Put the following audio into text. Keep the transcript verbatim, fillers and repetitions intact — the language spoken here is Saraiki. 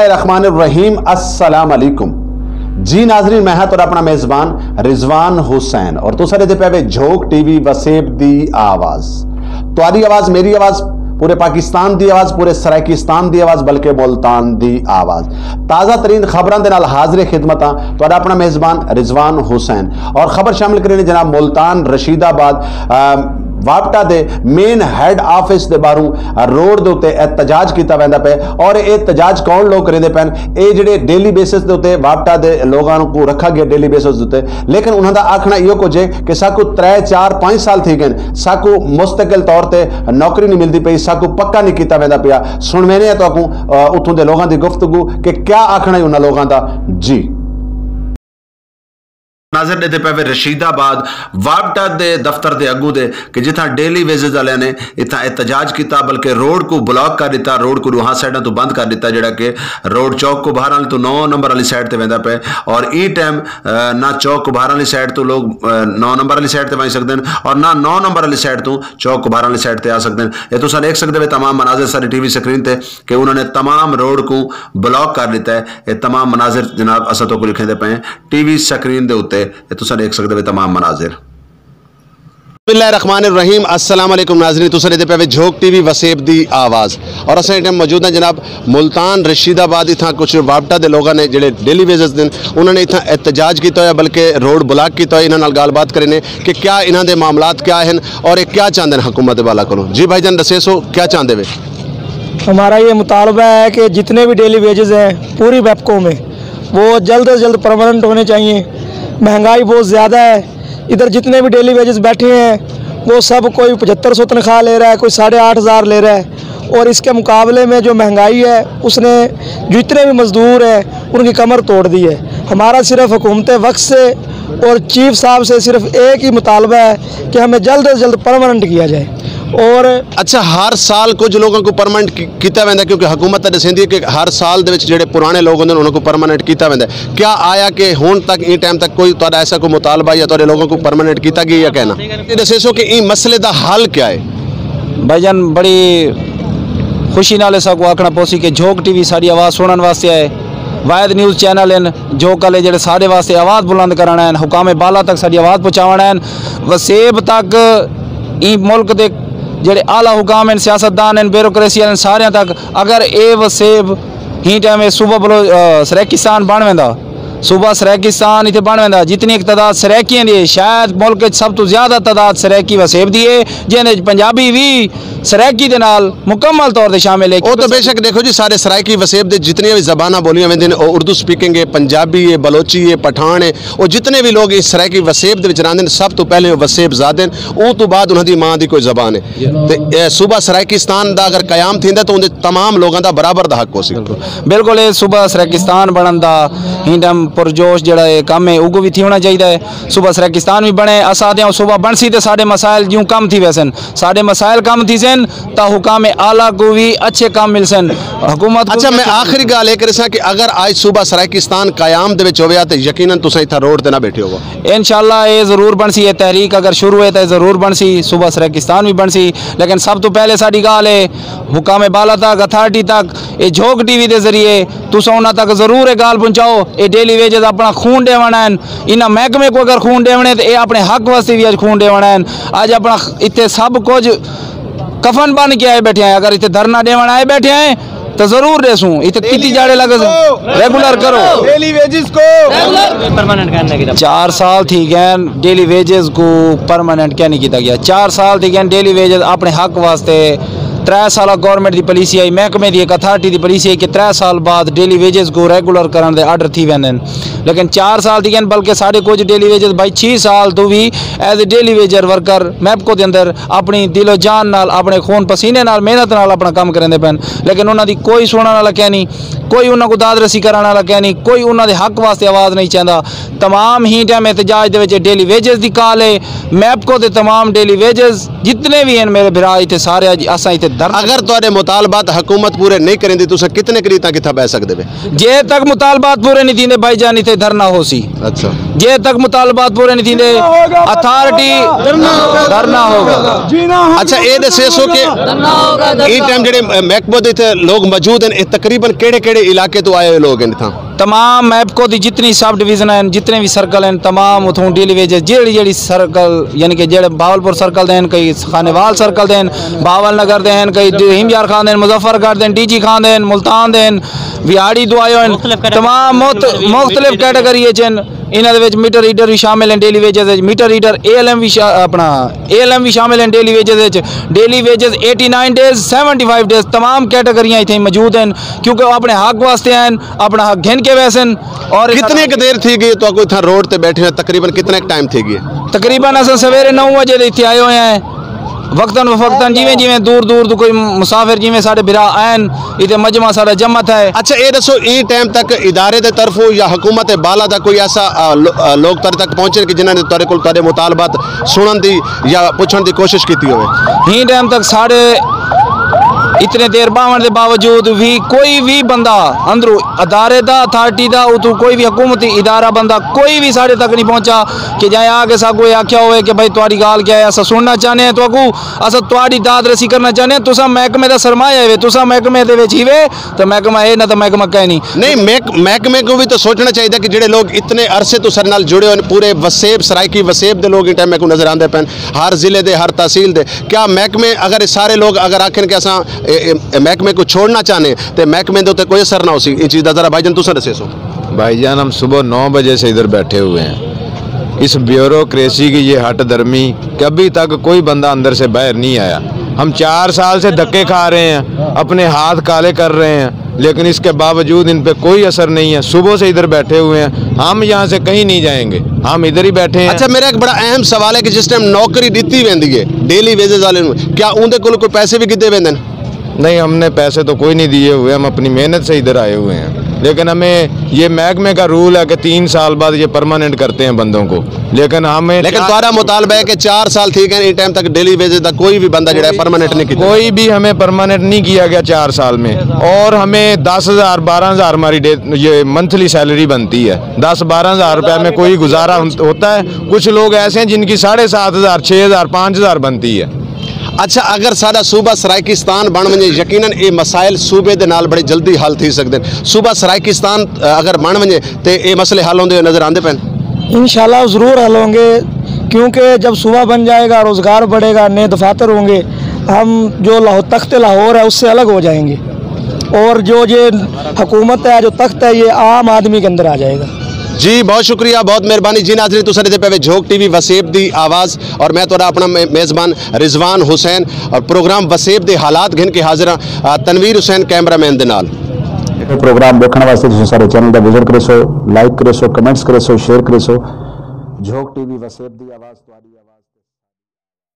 الرحمن الرحیم، السلام علیکم۔ جی ناظرین، میں ہاں تہاݙا اپݨا میزبان رضوان حسین اور تساں ݙیہدے پئے وے جھوک ٹی وی وسیب دی آواز۔ تہاݙی آواز، میری آواز، پورے پاکستان دی آواز، پورے سرائیکستان دی آواز، بلکہ ملتان دی آواز۔ تازہ ترین خبراں دے نال حاضر خدمت ہاں تہاݙا اپݨا میزبان رضوان حسین۔ اور خبر شامل کریندے جناب ملتان رشید آباد، آ، واپٹا دے مین ہیڈ آفس دے ٻاہروں روڈ دے اتے احتجاج کیتا ویندا پئے۔ اور اے احتجاج کون لوگ کریندے پئن؟ اے جڑے ڈیلی بیسس دے اتے واپٹا دے لوگاں کوں رکھا گیا ڈیلی بیسس دے اتے، لیکن انہاں دا آکھݨا ایہو کجھ ہے کہ ساکوں ترے، چار، پنج سال تھی ڳئن، ساکوں مستقل طور تے نوکری نہیں ملدی پئی، ساکوں پکا نہیں کیتا ویندا پیا۔ سݨویندے ہیں تہاکوں، آ، اتھوں دے لوگاں دی گفتگو کہ کیا آکھݨا ہے انہاں لوگاں دا۔ جی۔ ناظر ݙیہدے پئے وے رشید آباد واپڈا دے دفتر دے اڳوں دے کہ جتھاں ڈیلی ویجز آلیاں نے اتھاں احتجاج کیتا، بلکہ روڈ کوں بلاک کر ݙتا، روڈ کوں ݙوہاں سائیڈاں توں بند کر ݙتا، جیڑھا کہ روڈ چوک کبھار آلے توں نو نمبر آلی سائیڈ تے ویندا پئے۔ اور ایں ٹائم، آ، نہ چوک کبھار آلی سائیڈ توں لوگ، آ، نو نمبر آلی سائیڈ تے ونڄ سڳدن اور نہ نو نمبر آلی سائیڈ توں چوک کبھار آلی سائیڈ تے آ سڳدن۔ اے تساں ݙیکھ سڳدے وے تمام مناظر ساݙی ٹی وی سکرین تے کہ انہاں نے تمام روڈ کوں بلاک کر ݙتا ہے۔ اے تمام مناظر جناب اساں تہاکوں ݙکھیندے پئے ہیں ٹی وی سکرین دے اتے، اے تساں ݙیکھ سڳدے وے تمام مناظر۔ بسم اللہ الرحمن الرحیم۔ السلام علیکم ناظرین، تساں ݙیہدے پئے وے جھوک ٹی وی وسیب دی آواز اور اساں ایں ٹائم موجود ہیں جناب ملتان رشید آباد۔ اتھاں کچھ واپٹا دے لوگاں نے جڑے ڈیلی ویجز دن، انہاں نے اتھاں احتجاج کیتا ہویا بلکہ روڈ بلاک کیتا ہویا۔ انہاں نال ڳالھ بات کرینے کہ کیا انہاں دے معاملات کیا ہیں اور اے کیا چاہندے ہیں حکومت دے بالا کولوں۔ جی بھائی جان، ݙسیسو کیا چاہندے وے؟ ہمارا یہ مطالبہ ہے کہ جتنے بھی ڈیلی ویجز ہیں پوری میپکو میں، وہ جلد از جلد پرماننٹ ہونے چاہیے۔ مہنگائی بہت زیادہ ہے، ادھر جتنے بھی ڈیلی ویجز بیٹھے ہیں، وہ سب، کوئی پچھتر سو تنخواہ لے رہا ہے، کوئی ساڑھے آٹھ ہزار لے رہا ہے، اور اس کے مقابلے میں جو مہنگائی ہے، اس نے جو اتنے بھی مزدور ہیں، ان کی کمر توڑ دی ہے۔ ہمارا صرف حکومت وقت سے اور چیف صاحب سے صرف ایک ہی مطالبہ ہے کہ ہمیں جلد از جلد پرماننٹ کیا جائے۔ اور اچھا، ہر سال کجھ لوگاں کوں پرماننٹ کی-، کیتا ویندا ہے، کیونکہ حکومت تاں ݙسیندی ہے کہ ہر سال دے وچ جڑے پرانے لوگ ہوندے انہاں کوں پرماننٹ کیتا ویندا ہے۔ کیا آیا کہ ہن تک، ایں ٹائم تک کوئی تہاݙا ایسا کوئی مطالبہ یا تہاݙے لوگاں کوں پرماننٹ کیتا گیا یا کہنا؟ اے ݙسیسو کہ ایں مسئلے دا حل کیا ہے؟ بھائی جان، بڑی خوشی نال اساکوں آکھݨا پوسی کہ جھوک ٹی وی ساݙی آواز سݨݨ واسطے آئے۔ واحد نیوز چینل ہن جھوک آلے جڑے ساݙے واسطے آواز بلند کرݨ آئے ہن، حکام بالا تک ساݙی آواز پہنچاوݨ آئے ہن، وسیب تک، ایں ملک دے جڑے اعلیٰ حکام ہن، سیاستدان ہن، بیوروکریسی ہن، ساریاں تک۔ اگر اے وسیب ہی ٹائم اے صوبہ بلو-، آ، سرائیکستان بݨ ویندا، صوبہ سرائیکستان اتھے بݨ ویندا، جتنی ایک تعداد سرائیکیاں دی ہے، شاید ملک وچ سب توں زیادہ تعداد سرائیکی وسیب دی ہے، جیندے وچ پنجابی وی سرائیکی دے نال مکمل طور تے شامل ہے۔ او تو بے شک ݙیکھو جی، سارے سرائیکی وسیب دے جتنیاں وی زباناں ٻولیاں ویندین، او اردو سپیکنگ ہے، پنجابی ہے، بلوچی ہے، پٹھان ہے، او جتنے وی لوگ اس سرائیکی وسیب دے وچ رہندن، سب توں پہلے او وسیب زادن، اوں توں بعد انہاں دی ماں دی کوئی زبان ہے۔ تے اے صوبہ سرائیکستان دا اگر قیام تھیندا تو اوندے تمام لوگاں دا برابر دا حق ہوسی۔ بالکل، اے صوبہ سرائیکستان بݨݨ دا ہی ٹائم پرجوش جڑا اے کم ہے، اوکوں وی تھیوݨا چاہیدا ہے۔ صوبہ سرائیکستان وی بݨے، اساں آہدے ہاں صوبہ بݨسی تے ساݙے مسائل جیوں کم تھی ویسن، ساݙے مسائل کم تھیسن تاں حکام اعلیٰ کوں وی اچھے کم ملسن، حکومت کوں اچھا، وی میں اچھے کم آخری ملسن۔ ڳالھ اے کرساں کہ اگر اڄ صوبہ سرائیکستان قیام دے وچ ہویا تے یقیناً تساں اتھاں روڈ تے نہ ٻیٹھے ہوو۔ انشاءاللہ اے ضرور بݨسی، اے تحریک اگر شروع ہے تے ضرور بݨسی، صوبہ سرائیکستان وی بݨسی، لیکن سب توں پہلے ساݙی ڳالھ ہے حکام بالا تک، اتھارٹی تک، اے جھوک ٹی وی دے ذریعے تساں انہاں تک ضرور اے ڳالھ پہنچاؤ۔ اے ڈیلی ویجز اپݨا خون ݙیوݨ آئن، انہاں محکمے کوں اگر خون ݙیوݨے تے اے اپݨے حق واسطے وی اڄ خون ݙیوݨ آئن۔ اڄ اپݨا خ-، اتھے سب کجھ کفن بن کے آئے بیٹھے ہیں، اگر اتھے دھرنا ݙیوݨ آئے بیٹھے ہیں تاں ضرور ݙیسوں۔ اتھے کیتی جاڑے لڳسن، ریگولر کرو۔ ڈیلی ویجز کو پرماننٹ کرنے کی چار سال تھی ڳئے ڈیلی ویجز کوں پرماننٹ کیوں نہیں کیتا گیا؟ چار سال تھی ڳئے ڈیلی ویجز اپݨے حق واسطے۔ ترے سال گورنمنٹ دی پالیسی آئی، محکمے دی ایک اتھارٹی دی پالیسی آئی کہ ترے سال بعد ڈیلی ویجز کوں ریگولر کرݨ دے آرڈر تھی ویندن، لیکن چار سال تھی ڳئے، بلکہ ساݙے کجھ ڈیلی ویجز بھائی چھی سال توں we as a daily wager worker MEPCO دے اندر اپݨی دل و جان نال، اپݨے خون پسینے نال، محنت نال اپݨا کم کریندے پئن، لیکن انہاں دی کوئی سُݨݨ والا کینی، کوئی انہاں کوں داد رسی کرݨ والا کینی، کوئی انہاں دے حق واسطے آواز نہیں چیندا۔ تمام ہی ٹائم احتجاج دے وچ ڈیلی ویجز دی کال ہے۔ میپکو دے تمام ڈیلی ویجز جتنے وی ہن میرے بھرا، اتھے سارے اڄ اساں اتھے اگر تہاݙے مطالبات حکومت پورے نہیں کریندی، تساں کتنے کری تاں کتھاں ٻہہ سڳدے وے؟ جے تک مطالبات پورے نہیں تھیندے بھائی جان، اتھے دھرنا ہوسی۔ اچھا۔ جے تک مطالبات پورے نہیں تھیندے، اتھارٹی دھرنا ہوگا۔ اچھا، اے ݙسیسو کہ ایں ٹائم جڑے محکمہ دے اتھے لوگ موجود ہیں، اے تقریباً کیڑے کیڑے علاقے تو آئے ہوئے لوگ ہیں اتھاں؟ تمام میپکو دی جتنی سب ڈویژن ہیں، جتنے بھی سرکل ہیں، تمام اتھوں ڈیلی ویجز جیڑھی جیڑھی سرکل، یعنی کہ جیڑھے بہاولپور سرکل دے ہیں، کئی خانیوال سرکل دے ہیں، بہاول نگر دے ہیں، کئی رحیم یار خان دے ہیں، مظفر گڑھ دے ہیں، ڈی جی خان دے ہیں، ملتان دے ہیں، ویاڑی دو آئے ہوئے ہیں۔ تمام مخت-، مختلف کیٹیگری اچ ہیں۔ انہاں دے وچ میٹر ریڈر بھی شامل ہیں، ڈیلی ویجز وچ meter reader, A L M بھی شا-، اپنا اے ایل ایم بھی شامل ہیں ڈیلی ویجز وچ۔ Daily wages eighty nine days, seventy five days, تمام کیٹیگریاں اتھے موجود ہیں، کیونکہ وہ اپنے حق واسطے آئے ہیں، اپنا حق گھن کے ویسن۔ اور کتنے ک دیر تھی ڳئی تہاکوں اتھاں روڈ تے ٻیٹھے ہوئے؟ تقریباً کتنے ک ٹائم تھی ڳئے؟ تقریباً اساں سویرے نو وجے دے اتھے آئے ہوئے ہیں۔ وقتاً فوقتاً جیویں جیویں دور دور توں کوئی مسافر جیویں ساݙے بھرا آئن، اتھے مجمع ساݙا جمع تھئے۔ اچھا، اے ݙسو، ایں ٹائم تک ادارے دے طرفوں یا حکومت بالا دا کوئی ایسا، آ، لو-، آ، لوگ تہاݙے تک پہنچے کہ جنہاں نے تہاݙے کول تہاݙے مطالبات سݨݨ دی یا پچھݨ دی کوشش کیتی ہوئے؟ ایں ٹائم تک ساݙے اتنے دیر ٻاہوݨ دے باوجود بھی کوئی بھی بندہ اندروں ادارے دا، اتھارٹی دا، اتوں کوئی بھی حکومتی ادارہ بندہ کوئی بھی ساݙے تک نہیں پہنچا کہ جائیں آ کے ساکوں اے آکھیا ہوئے کہ بھائی تہاݙی ڳالھ کیا ہے، اساں سݨݨا چاہنے ہیں تہاکوں، اساں تہاݙی داد رسی کرݨا چاہنے ہیں۔ تساں محکمے دا سرمایہ ہے، تساں محکمے دے وچ ہیوے تاں محکمہ ہے، نہ تاں محکمہ کائنی۔ نہیں، محک-، محکمے کوں بھی تاں سوچݨا چاہیدا کہ جڑے لوگ اتنے عرصے توں ساݙے نال جڑے ہوئے ہیں، پورے وسیب، سرائیکی وسیب دے لوگ ایں ٹائم میکوں نظر آندے پئن، ہر ضلع دے، ہر تحصیل دے، کیا محکمے اگر اے سارے لوگ اگر آکھن کہ اساں اے، اے، اے محکمے کوں چھوڑݨا چاہنے تے محکمے دے اتے کوئی اثر نہ ہوسی؟ ایں چیز دا ذرا بھائی جان تساں ݙسیسو۔ بھائی جان، ہم صبح نو بجے سے ادھر بیٹھے ہوئے ہیں۔ اس بیوروکریسی کی یہ ہٹ دھرمی کہ ابھی تک کوئی بندہ اندر سے باہر نہیں آیا۔ ہم چار سال سے دھکے کھا رہے ہیں، اپنے ہاتھ کالے کر رہے ہیں، لیکن اس کے باوجود ان پہ کوئی اثر نہیں ہے۔ صبح سے ادھر بیٹھے ہوئے ہیں، ہم یہاں سے کہیں نہیں جائیں گے، ہم ادھر ہی بیٹھے ہیں۔ اچھا، میرا ایک بڑا اہم سوال ہے کہ جس ٹائم نوکری ݙتی ویندی ہے ڈیلی ویجز والے نوں، کیا اوندے کول کوئی پیسے بھی گھدے ویندے نے؟ نہیں، ہم نے پیسے تو کوئی نہیں دیے ہوئے، ہم اپنی محنت سے ادھر آئے ہوئے ہیں، لیکن ہمیں یہ محکمے کا رول ہے کہ تین سال بعد یہ پرماننٹ کرتے ہیں بندوں کو، لیکن ہمیں لیکن تہاݙا مطالبہ ہے کہ چار سال تھی ڳئے، ایں ٹائم تک ڈیلی ویجز دا کوئی بھی بندہ جڑا ہے پرماننٹ نہیں کیتا۔ کوئی بھی ہمیں پرماننٹ نہیں کیا گیا چار سال میں، اور ہمیں دس ہزار، بارہ ہزار ہماری ڈے-، یہ منتھلی سیلری بنتی ہے، دس بارہ ہزار روپے میں کوئی گزارا ہو-، ہوتا ہے؟ کچھ لوگ ایسے ہیں جن کی ساڑھے سات ہزار، چھ ہزار، پانچ ہزار بنتی ہے۔ اچھا، اگر ساݙا صوبہ سرائیکستان بݨ ونڄے، یقیناً اے مسائل صوبے دے نال بڑے جلدی حل تھی سڳدن۔ صوبہ سرائیکستان، آ، اگر بݨ ونڄے تے اے مسئلے حل ہوندے ہوئے نظر آندے پئن؟ انشاءاللہ ضرور حل ہوں گے، کیونکہ جب صوبہ بن جائے گا، روزگار بڑھے گا، نئے دفاتر ہوں گے، ہم جو لاہو-، تخت لاہور ہے، اس سے الگ ہو جائیں گے، اور جو یہ حکومت ہے، جو تخت ہے، یہ عام آدمی کے اندر آ جائے گا۔ جی، بہت شکریہ، بہت مہربانی۔ جی ناظرین، تساں ݙیہدے پئے وے جھوک ٹی وی وسیب دی آواز، اور میں تہاݙا اپݨا مے-، میزبان رضوان حسین، اور پروگرام وسیب دے حالات گھن کے حاضر ہاں، آ، تنویر حسین کیمرہ مین دے نال۔ پروگرام ݙیکھݨ واسطے تساں سارے چینل دا وزٹ کریسو، لائک کریسو، کمنٹس کریسو، شیئر کریسو۔ جھوک ٹی وی وسیب دی آواز، تہاݙی آواز۔